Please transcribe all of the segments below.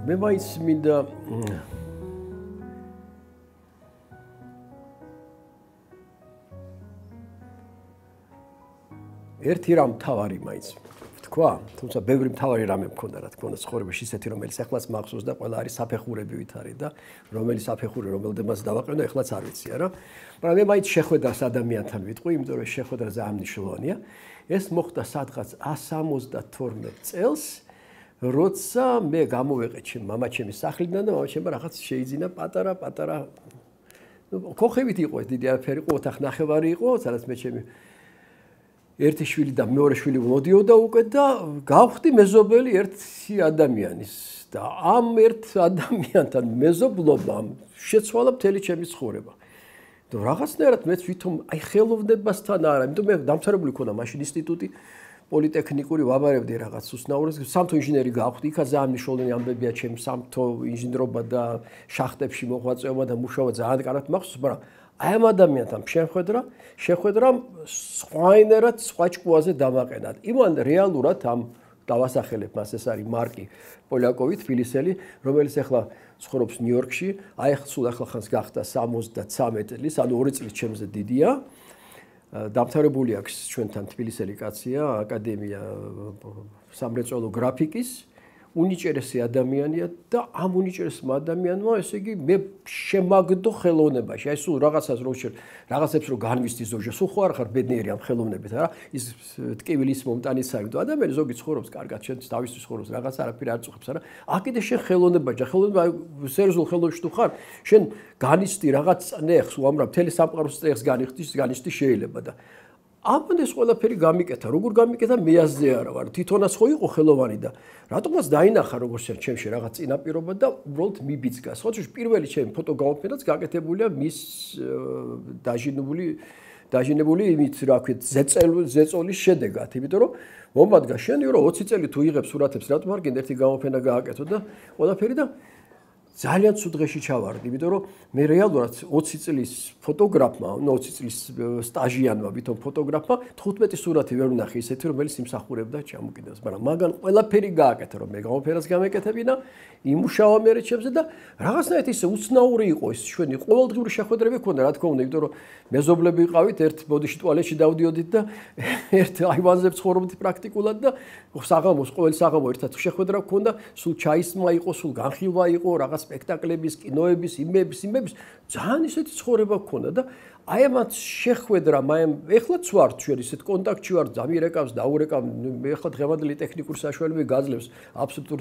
მე მაინც მინდა ერთი რამ თავარი მაინც თქვა, თუმცა ბევრი მთავარი რამე მქონდა, რა თქმა უნდა, ცხოვრებაში ისეთი, რომელიც ეხლაც მახსოვს და ყველა არის საფეხურებივით არის და რომელი საფეხური რომელდემაც დავაყენო, ეხლაც არ ვიცია რა. მაგრამ მე მაინც შეხვედრას ადამიანთან ვიტყვი, იმიტომ რომ შეხვედრა ძალიან მნიშვნელოვანია. ეს მოხდა სადღაც 172 წელს, როცა მე გამოვეყე ჩემ მამაჩემის სახლიდან და მამაჩემმა რაღაც შეიძინა პატარა ქოხებით იყო ეს დიდი აფერი, ოთახ ნახევარი იყო, სადაც მე ჩემი ერთი შვილი და მეორე შვილი მოდიოდა უკვე და გავხდი მეზობელი ერთი ადამიანის და ამ ერთ ადამიანთან მეზობლობამ შეცვალა მთელი ჩემი ცხოვრება. და რაღაცნაირად მეც ვითომ აი ხელოვნებასთან არა, იმიტომ მე დამთავრებული მქონდა მაშინ ინსტიტუტი პოლიტექნიკური ვაბარებდი რაღაც უსნაურს, სამთო ინჟინერი გავხდი, იქა ძალიან მნიშვნელოვანი ამბებია ჩემ სამთო ინჟინერობა და შახტებში მოღვაწეობა და მუშაობა ძალიან კარგად მახსოვს, მაგრამ აი ამ ადამიანთან შეხვედრამ სხვაინერად სხვა ჭკუაზე დამაყენა. იმან რეალურად ამ დავასახელებ მას, ეს არის მარკი პოლიაკოვი, თბილისელი, რომელიც ახლა ცხოვრობს ნიუ-იორკში, აი სულ ახლახანს გახდა 73 წლის, ანუ 2 წლის ჩემზე დიდია. დამთავრებული აქვს ჩვენთან თბილისელი კაცია, აკადემია სამრეწველო გრაფიკის. უნიჭერესი ადამიანია და ამ უნიჭერესმა ადამიანმა ესე იგი მე შემაგდო ხელოვნებაში. აი სულ რაღაცებს რო განვისდი ზოგჯერ, სულ ხო არ ხარ ბედნიერი ამ ხელოვნებით, არა? ის ტკივილის მომტანის საერთო ადამიანი ზოგი ცხოვრობს კარგად, შენ თავისთვის ცხოვრობს, რაღაც არაფერი არ წუხებს, არა? აქედე შენ ხელოვნებაჯა, ხელოვნება სერიოზულ ხელოვნებაში თუ ხარ, შენ განიცდი რაღაც წნეხს, უამრავ მთელი სამყაროს წნეხს განიცდი შეიძლება და ამან ეს ყველაფერი გამიკეთა, როგორ გამიკეთა მე აზზე არა ვარ. თვითონაც ხო იყო ხელოვანი და რატომაც დაინახა როგორც ჩემში რაღაც წინაპირობა და უბრალოდ მიბიძგა. სხვა შე პირველი ჩემი ფოტო გამოფენაც გაკეთებულია მის დაჟინებული იმით, რა ვქეთ, ზეწოლის შედეგად, იმიტომ რომ მომადგა შენი რომ 20 წელი თუ იღებ სურათებს, რატომ არ გინდა ერთი გამოფენა გააკეთო და ყველაფერი და ძალიან ცუდ დღეში ჩავარდი, იმიტომ რომ მე რეალურად 20 წლის ფოტოგრაფმა, 20 წლის სტაჟიანმა, ვითომ ფოტოგრაფმა 15 სურათი ვერ ვნახე ისეთი, რომელიც იმსახურებდა ჩამოკიდებას, მაგრამ მაგან ყველაფერი გააკეთა, რომ მე გამოფენას გამეკეთებინა, იმუშავა მე ჩემზე და რაღაცნაირად ისე უცნაური იყო ეს ჩვენი ყოველდღიური შეხვედრები ქონდა, რა თქმა უნდა, იმიტომ რომ მეზობლები ვიყავით, ერთ ბოდიში ტუალეტში დავდიოდით და ერთ აივანზე ცხოვრობდით პრაქტიკულად და ყოველ საღამო ერთად შეხვედრა ქონდა, სულ ჩაისმა იყო, სულ განხილვა იყო, რაღაც სპექტაკლების, კინოების, იმების, ძალიან ისეთი ცხოვრება გქონდა და აი ამათ შეხვედრამ, ეხლაც ვარ ჩვენ ისეთ კონტაქტში ვარ, დამირეკავს, დაურეკავ, ეხლა დღევანდელი ტექნიკური საშუალებები გაძლევს აბსოლუტურ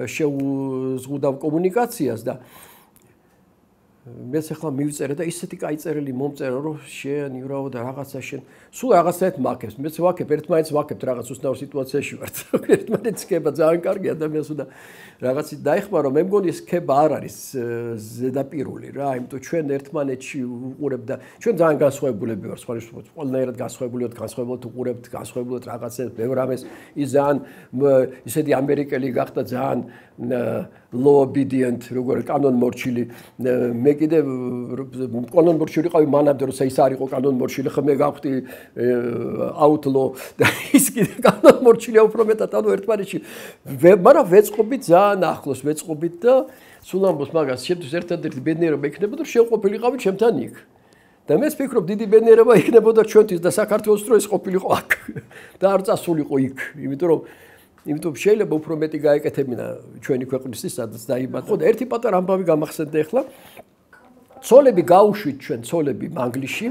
შეუზღუდავ კომუნიკაციას და მეც ახლა მივწერე და ისეთი კაი წერილი მომწერა, რომ შენ იურავო და რაღაცა შენ სულ რაღაცაეთ მაქებს. მეც ვაქებ, ერთმანეთს ვაქებთ რაღაც უსნაურ სიტუაციაში ვართ. ერთმანეთს ხება ძალიან კარგი ადამიანს და რაღაცით დაიხმარო, მე მგონი ეს ხება არ არის ზედაპირული რა, იმიტომ ჩვენ ერთმანეთში უყურებთ და ჩვენ ძალიან განსხვავებულები ვართ, ყველანაირად განსხვავებულად უყურებთ, განსხვავებულად რაღაცებს, ბევრ რამეს ის ძალიან ისეთი ამერიკელი გახდა ძალიან low obedient, როგორ კანონმორჩილი მე კიდე კანონმორჩილი ყავი მანამდე როცა ის არ იყო კანონმორჩილი ხა მე გავხდი outlaw და ის კიდე კანონმორჩილია უფრო მეტად ანუ ერთმანეთში მაგრამ ვეწყობით ძალიან ახლოს ვეწყობით და სულ ამბობს მაგას შემთხვევით ერთადერთი ბედნიერება იქნებოდა რომ შეყოფილიყავით ჩემთან იქ და მეც ვფიქრობ დიდი ბედნიერება იქნებოდა ჩვენთვის და საქართველოს რო ეს ყოფილიყო აქ და არ წასულიყო იქ იმიტომ შეიძლება უფრო მეტი გაეკეთებინა ჩვენი ქვეყნისთვის სადაც დაიბადა. ხო და ერთი პატარა ამბავი გამახსენდა ახლა. ცოლები გაუშვით ჩვენ ცოლები მანგლისში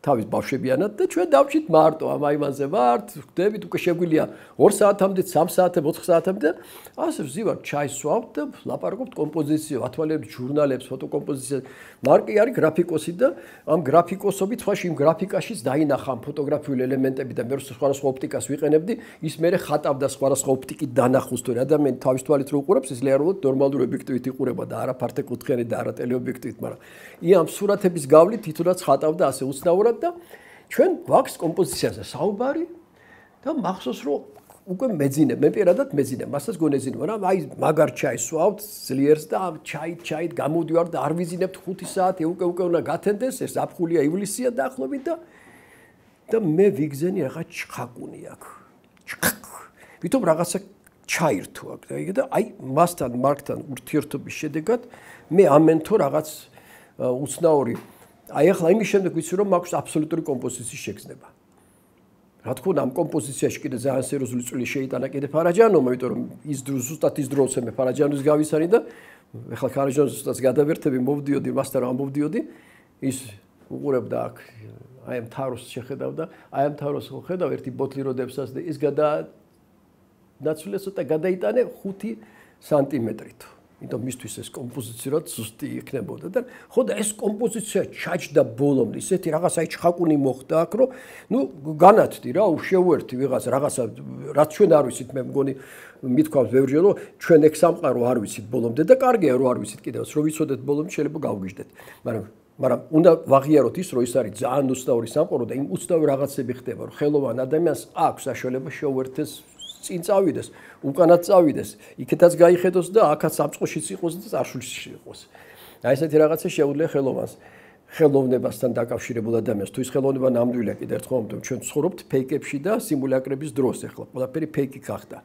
თავის ბავშვებიანად და ჩვენ დავჭით მარტო ამ აივანზე ვართ, ვხვდებით უკვე შეგვიძლია 2 საათამდე, 3 საათამდე, 4 საათამდე ასე ვზივართ ჩაის ვსვავთ და ლაპარაკობთ კომპოზიციაზე, ათვალებთ ჟურნალებს, ფოტოკომპოზიციაზე. მარკი არის გრაფიკოსი და ამ გრაფიკოსობით სხვაში იმ გრაფიკაშიც დაინახა ფოტოგრაფიული ელემენტები და მე სხვადასხვა ოპტიკას ვიყენებდი, ის მე ხატავდა სხვადასხვა ოპტიკით დანახოს თუ ადამიანი თავის თვალით რო უყურებს, ის რეალურად ნორმალური ობიექტივით იყურება და არა ფართეკუთხიანი და არა ტელეობიექტივით, მაგრამ ამ სურათების გავლით თვითონაც ხატავდა ასე უცნაურად და ჩვენ გვაქვს კომპოზიციაზე საუბარი და მახსოვს რომ უკვე მეძინე, მე პირადად მეძინე, მასაც გონეზინე, მაგრამ აი მაგარ ჩაის ვსვავთ ძლიერს და ჩაით გამოდივარ და არ ვიზინებთ 5 საათი, უკვე უნდა გათენდეს, ეს ზაფხულია, ივლისია დაახლოებით და მე ვიგზენი რაღაც ჩხაკუნი აქვს. ვითომ რაღაცა ჩაირთო აქ და აი მასთან მარკთან ურთიერთობის შედეგად მე ამენთო რაღაც უცნაური აი ახლა იმის შემდეგ ვიცი რომ მაქვს აბსოლუტური კომპოზიციის შეგრძნება. რა თქმა უნდა ამ კომპოზიციაში კიდე ძალიან სერიოზული წვლილი შეიტანა კიდე ფარაჯანოვმა, იმიტომ რომ ის ზუსტად ის დროზე მე ფარაჯანოვის გავისანი და ახლა ფარაჯანოვის ზუსტად გადავერთები მოვდიოდი მასთან რა მოვდიოდი ის უყურებდა აქ აი ამ თაროს შეხედავდა აი ამ თაროს ხედავ ერთი ბოთლი როდესაც და ის ნაცვლია ცოტა გადაიტანე 5 სანტიმეტრით. იმიტომ მისთვის ეს კომპოზიცია ზუსტი იქნებოდა და ხო და ეს კომპოზიცია ჩაჯდა ბოლომდე ისეთი რაღაც აი ჩხაკუნი მოხდა აქ რომ ნუ განათდი რა უშევერთი ვიღაც რაღაცა რაც ჩვენ არ ვიცით მე მგონი მithქვამს ბევრჯერ რომ ჩვენ ეგ სამყარო არ ვიცით ბოლომდე და კარგია რომ არ ვიცით კიდევაც რომ ვიცოდეთ ბოლომდე შეიძლება გავგიჟდეთ მაგრამ უნდა ვაღიაროთ ის რომ ის არის ძალიან უცნაური სამყარო და იმ უცნაური რაღაცები ხდება რომ ხელოვან ადამიანს აქვს საშუალება შეუერთდეს წინ წავიდეს, უკანაც წავიდეს, იქეთაც გაიხედოს და აქაც სამწყოშიც იყოს და წარსულში იყოს. აი ესეთი რაღაცა შეუძლია ხელოვანს, ხელოვნებასთან დაკავშირებულ ადამიანს. თუ ის ხელოვნება ნამდვილია კიდევ ერთხელ ვამბობ, ჩვენ ცხოვრობთ ფეიკებში და სიმულაკრების დროს ახლა. ყველაფერი ფეიკი გახდა.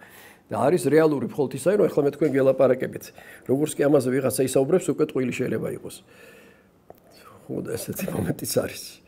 და არის რეალური მხოლოდ ისაა, რომ ახლა მე თქვენ გელაპარაკებით. როგორც კი ამაზე ვიღაცა ისაუბრებს, უკვე ტყუილი შეიძლება იყოს. ხო და ესეთი მომენტიც არის.